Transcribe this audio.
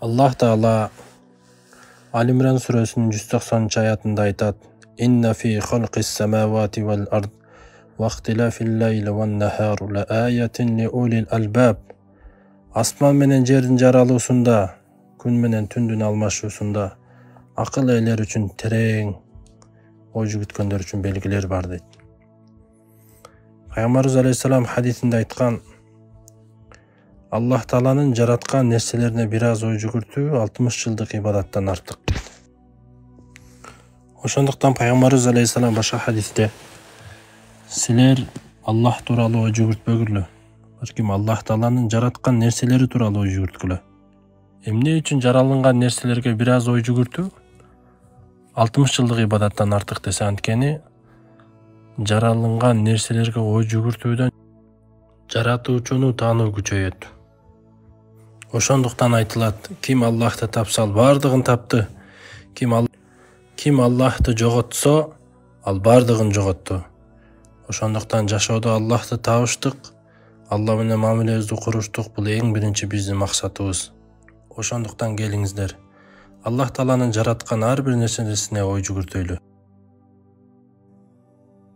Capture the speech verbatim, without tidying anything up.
Аллах Таала Ал-Имран сүрөсүнүн жүз токсонунчу аятында айтат: «Инна фи халқис самавати вал ард ва ихтилафил лайли ван нахари ла аятин ли улил албаб». Асман менен жердин жаралуусунда, күн менен түндүн алмашуусунда акыл ээлер үчүн терең ой жүгүткөндөр үчүн белгилер бар дейт. Пайгамбарыбыз алейхиссалам хадисинде айткан: Аллах Тааланын жараткан нерселерине бир аз ой жүгүртүү алтымыш жылдык ибадаттан артык. Ошондуктан Пайгамбарыбыз алейхиссалам башка хадисте: силер Аллах тууралуу ой жүгүртпөгүлө, балким Аллах Тааланын жараткан нерселери тууралуу ой жүгүрткүлө. Эмне үчүн жаралынган нерселерге бир аз ой жүгүртүү алтымыш жылдык ибадаттан артык десе, анткени жаралынган нерселерге ой жүгүртүүдөн жаратуучуну таануу күчөйөт. Ошондуктан айтылат: ким Аллахты тапса, ал бардыгын тапты. Ким ал ким Аллахты жоготсо, ал бардыгын жоготту. Ошондуктан жашоодо Аллахты табыштык, Алла менен мамилебизди куруштук бул эң биринчи биздин максатыбыз. Ошондуктан келиңиздер, Аллах Тааланын жараткан ар бир нерсесине ой жүгүртөйлү.